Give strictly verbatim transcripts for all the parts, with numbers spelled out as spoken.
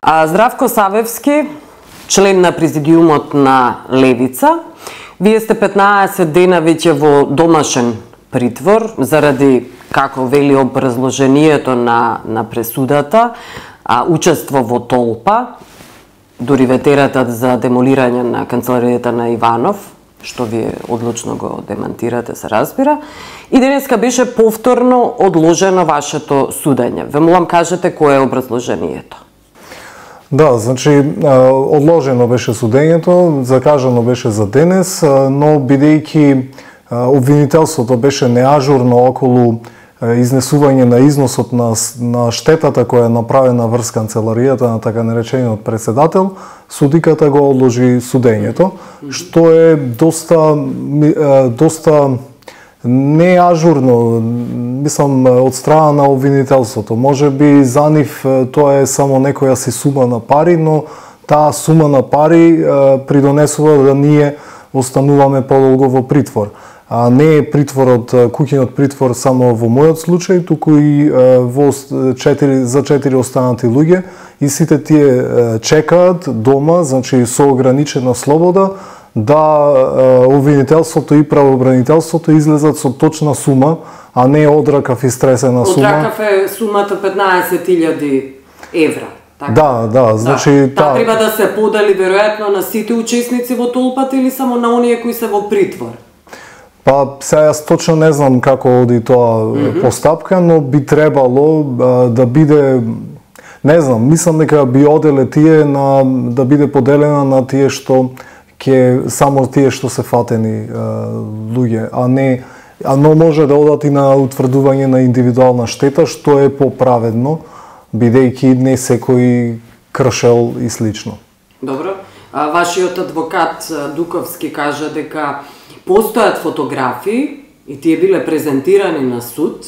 А Здравко Савевски, член на президиумот на Левица, вие сте петнаесет дена веќе во домашен притвор заради, како вели образложението на, на пресудата, а, учество во толпа, дури ветератат за демолирање на канцеларијата на Иванов, што вие одлучно го демантирате, се разбира, и денеска беше повторно одложено вашето судење. Ве молам кажете кое е образложението. Да, значи, одложено беше судењето, закажано беше за денес, но бидејќи обвинителството беше неажурно околу изнесување на износот на, на штетата која е направена врз канцеларијата на така наречениот председател, судиката го одложи судењето, што е доста, доста неажурно, мислам, од страна на обвинителството. Може би за нив тоа е само некоја си сума на пари, но таа сума на пари придонесува да ние остануваме подолго во притвор. А не е притворот, куќиниот притвор само во мојот случај, туку и во четири, за четири останати луѓе, и сите тие чекаат дома, значи со ограничена слобода, да обвинителството и правобранителството излезат со точна сума, а не одракав истресена сума. Одракав е сумата петнаесет илјади евра. Така? Да, да, значи... Да. Таа треба да се подели веројатно на сите учесници во толпата или само на оние кои се во притвор? Па, сега јас точно не знам како оди тоа mm -hmm. постапка, но би требало а, да биде, не знам, мислам дека би оделе тие на, да биде поделена на тие што ке само тие што се фатени а, луѓе, а не, а но може да одат и на утврдување на индивидуална штета, што е поправедно, бидејќи не секој кршел и слично. Добро. А, вашиот адвокат Дуковски кажа дека постојат фотографии и тие биле презентирани на суд,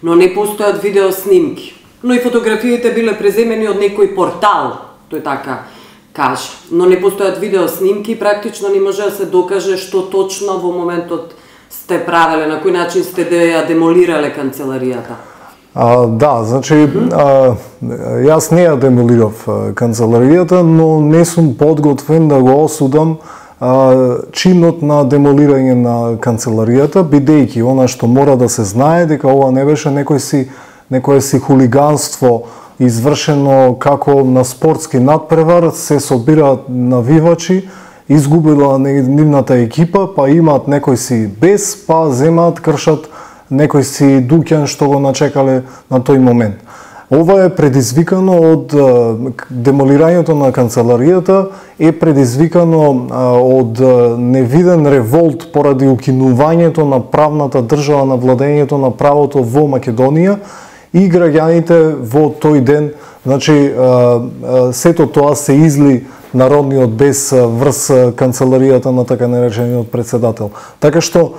но не постојат видеоснимки. Но и фотографиите биле преземени од некој портал, тој така каже. Но не постојат видеоснимки и практично не може да се докаже што точно во моментот сте правеле, на кој начин сте да ја демолирале канцеларијата. А, да, значи, mm-hmm. а, јас не ја демолирав канцеларијата, но не сум подготвен да го осудам а, чинот на демолирање на канцеларијата, бидејќи она што мора да се знае дека ова не беше некој си, некој си хулиганство извршено како на спортски надпревар, се собираат навивачи, изгубила нивната екипа, па имаат некој си без, па земаат, кршат некој си дуќан што го начекале на тој момент. Ова е предизвикано од демолирањето на канцеларијата, е предизвикано од невиден револт поради укинувањето на правната држава, на владењето на правото во Македонија, и граѓаните во тој ден, значи, сето тоа се изли народниот бес врз канцеларијата на така наречениот председател. Така што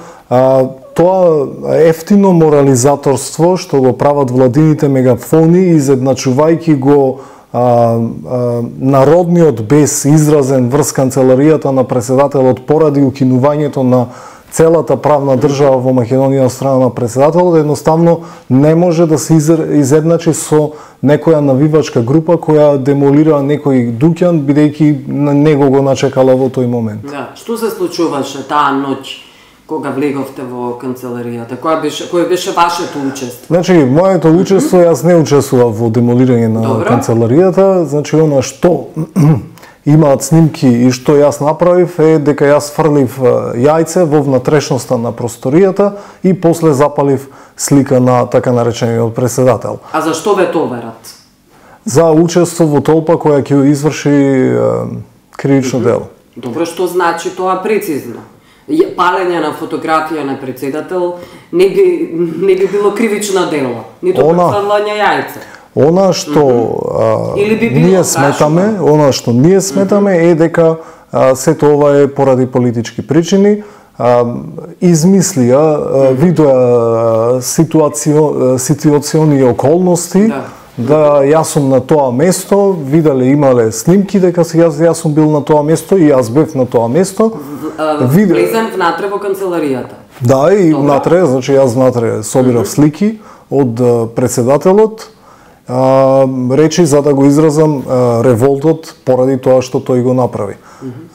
тоа ефтино морализаторство што го прават владините мегафони, изедначувајќи го а, а, народниот бес изразен врз канцеларијата на председателот поради укинувањето на целата правна држава во Македонија од страна на председателот, едноставно не може да се изедначи со некоја навивачка група која демолира некој дуќан, бидејќи него го начекала во тој момент. Да, што се случуваше таа ноќ кога влеговте во канцеларијата? Која беше, кој беше вашето учество? Значи, моето учество, јас не учествував во демолирање на Добро. канцеларијата, значи она што имаат снимки и што јас направив е дека јас фрлив јајце во внатрешноста на просторијата и после запалив слика на така наречениот председател. А зашто ве товерат? За учество во толпа која ќе изврши е, кривично дело. Добро, што значи тоа прецизно? Палење на фотографија на председател не би, не би било кривично дело, нито префрлање јајце. Она што mm -hmm. а, ние сметаме, гашно. она што ние сметаме mm -hmm. е дека а, сето ова е поради политички причини, а, измислија, а, видоа ситуацио, ситуациони околности, да. да јас сум на тоа место, виделе, имале снимки дека јас, јас сум бил на тоа место и јас бев на тоа место. Виде... Влезем внатре во канцеларијата. Да, и Добре. внатре, значи јас внатре собирав mm -hmm. слики од председателот, а, речи за да го изразам а, револтот поради тоа што тој го направи.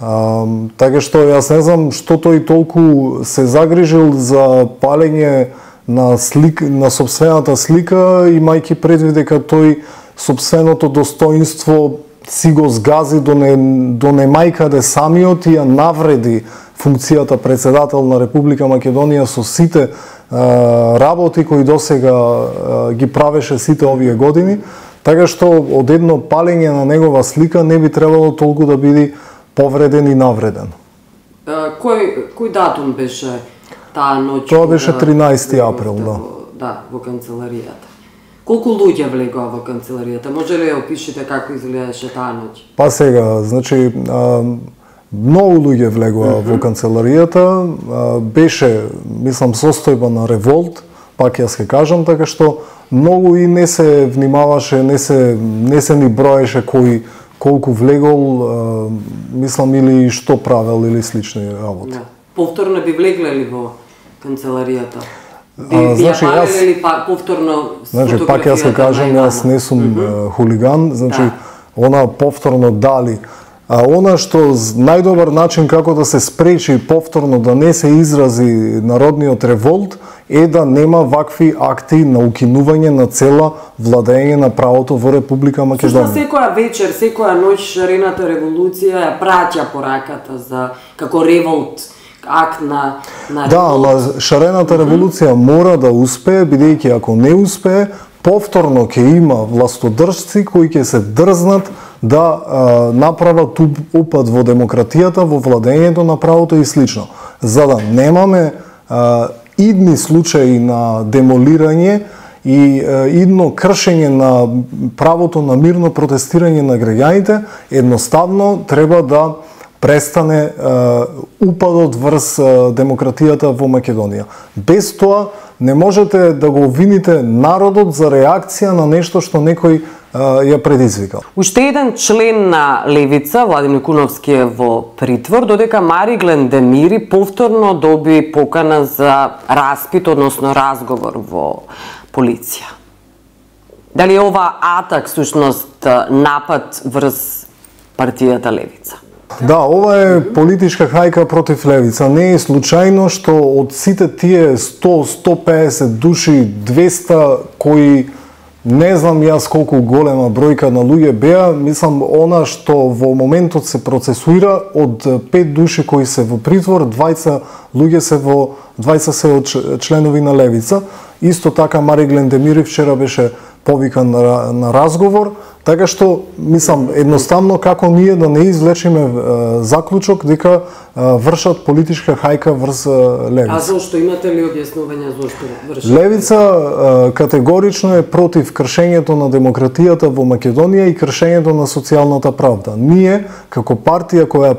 А, така што јас не знам што тој толку се загрижил за палење на слик, на сопствената слика, имајќи предвид дека тој сопственото достоинство си го згази до не, до немајкаде самиот и ја навреди функцијата председател на Република Македонија со сите а, работи кои досега а, ги правеше сите овие години, така што од едно палење на негова слика не би требало толку да биде повреден и навреден. А, кој кој датум беше таа ноќ? Тоа беше тринаесети април, да. Во, да, во канцеларијата. Колку луѓе влегоа во канцеларијата? Може ли да опишете како изгледаше таа ноќ? Па сега, значи, а, многу луѓе влегоа mm -hmm. во канцеларијата, а, беше, мислам, состојба на револт, пак јас ќе кажам, така што многу и не се внимаваше, не се, не се ни броеше кој колку влегол, а, мислам, или што правел, или слични работи. Да. Повторно би влегле ли во канцеларијата? Би, а, би значи, ја јас, ли па, повторно значи, пак јас ќе кажам, јас не сум mm -hmm. хулиган, значи, да. Она повторно дали. А она што најдобар начин како да се спречи повторно да не се изрази народниот револт е да нема вакви акти на укинување на цела владење на правото во Република Македонија. Сушто секоја вечер, секоја ноќ шарената револуција ја праќа пораката за како револт, акт на на Да, ама шарената револуција mm -hmm. мора да успее, бидејќи ако не успее, повторно ќе има властодржци кои ќе се дрзнат да а, направат упад во демократијата, во владењето на правото и слично. За да немаме а, идни случаи на демолирање и а, идно кршење на правото на мирно протестирање на граѓаните, едноставно треба да престане а, упадот врз а, демократијата во Македонија. Без тоа не можете да го обвините народот за реакција на нешто што некој а, ја предизвикал. Уште еден член на Левица, Владимир Куновски, е во притвор, додека Мариглен Демири повторно доби покана за распит, односно разговор во полиција. Дали е ова атак, сушност, напад врз партијата Левица? Да, ова е политичка хајка против Левица. Не е случајно што од сите тие сто, сто песет души, двеста кои не знам јас колку голема бројка на луѓе беа, мислам она што во моментот се процесуира од пет души кои се во притвор, двајца луѓе се во двајца се од членови на Левица. Исто така Мариглен Демири вчера беше повикан на, на разговор, така што мислам едноставно како ние да не извлечеме е, заклучок дека е, вршат политичка хајка врз Левица. А зошто имате ли објаснување зошто вршат? Левица е, категорично е против кршењето на демократијата во Македонија и кршењето на социјалната правда. Ние како партија која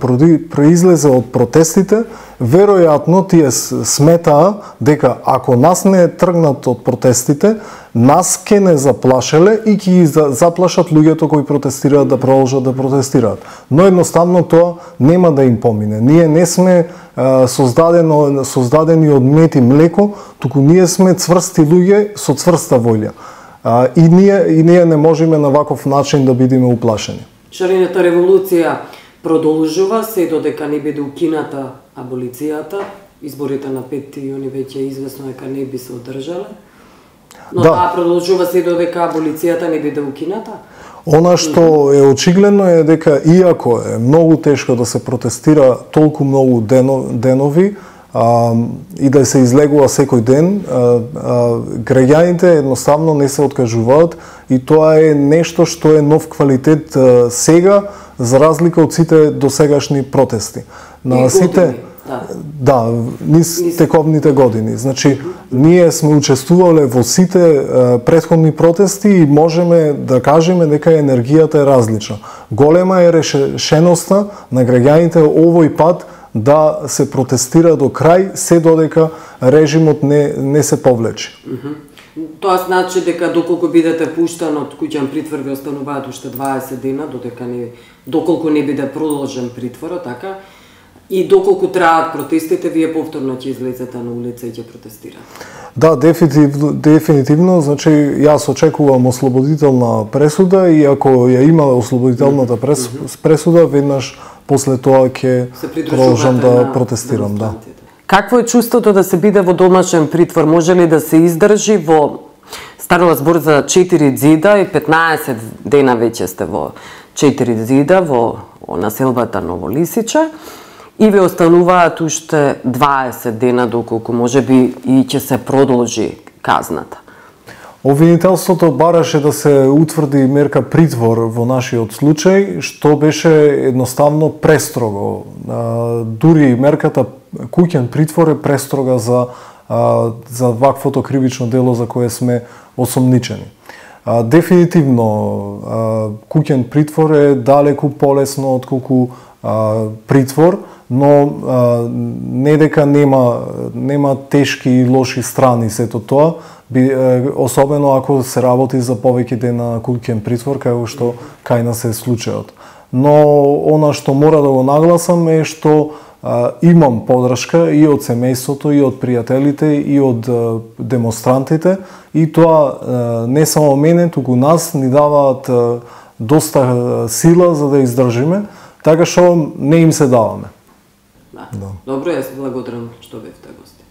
произлезе од протестите, веројатно тие сметаа дека ако нас не тргнат од протестите, нас ке не заплашеле и ќе ги заплашат луѓето кои протестираат да продолжат да протестираат. Но едноставно тоа нема да им помине. Ние не сме а, создадено, создадени од мед и млеко, туку ние сме цврсти луѓе со цврста волја. А, и, ние, и ние не можеме на ваков начин да бидеме уплашени. Шарената револуција продолжува се додека не биде укината аболицијата. Изборите на петти јуни веќе известно дека не би се одржале. Но да, таа продолжува се додека аболицијата не биде укината? Она што е очигледно е дека иако е многу тешко да се протестира толку многу денови а, и да се излегува секој ден, а, а, граѓаните едноставно не се откажуваат и тоа е нешто што е нов квалитет а, сега за разлика од сите досегашни протести. На сите Да, да низ тековните години. Значи, ние сме учествувале во сите е, претходни протести и можеме да кажеме дека енергијата е различна. Голема е решеноста на граѓаните овој пат да се протестира до крај, се додека режимот не, не се повлече. Mm -hmm. Тоа значи дека доколку бидете пуштан од куќен притвор ви остануваат уште дваесет дена, додека не, доколку не биде продолжен притворот, така? И доколку траат протестите, вие повторно ќе излезете на улица и ќе протестирате? Да, дефинитивно, дефинитивно, значи јас очекувам ослободителна пресуда и ако ја има ослободителната прес, пресуда, веднаш после тоа ќе продолжам да протестирам, да. Какво е чувството да се биде во домашен притвор? Може ли да се издржи во станува збор за четири зида и петнаесет дена веќе сте во четири зида во населбата Новолисиче и ви остануваат уште дваесет дена доколку можеби и ќе се продолжи казната? Обвинителството бараше да се утврди мерка притвор во нашиот случај, што беше едноставно престрого. Дури мерката куќен притвор е престрога за за ваквото кривично дело за кое сме осомничени. Дефинитивно куќен притвор е далеку полесно отколку притвор, но не дека нема нема тешки и лоши страни сето тоа, би, особено ако се работи за повеќе дена куќен притвор, како што кај нас е случајот. Но она што мора да го нагласам е што а, имам подршка и од семејството, и од пријателите, и од а, демонстрантите, и тоа а, не само мене, туку нас ни даваат а, доста сила за да издржиме, така што не им се даваме. Да. Да. Добро, јас благодарам што бевте гости.